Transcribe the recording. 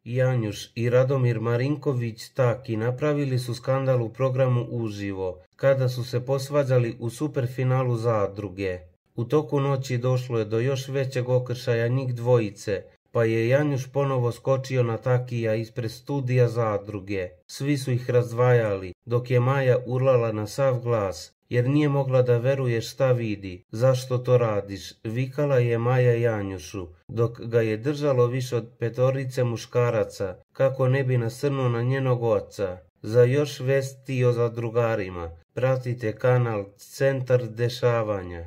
Janjuš i Radomir Marinković-Taki napravili su skandal u programu Uživo, kada su se posvađali u superfinalu Zadruge. U toku noći došlo je do još većeg okršaja njih dvojice, pa je Janjuš ponovo skočio na Takija ispred studija Zadruge. Svi su ih razdvajali, dok je Maja urlala na sav glas, jer nije mogla da veruje šta vidi. Zašto to radiš? Vikala je Maja Janjušu, dok ga je držalo više od 5 muškaraca, kako ne bi nasrnuo na njenog oca. Za još vesti o zadrugarima pratite kanal Centar dešavanja.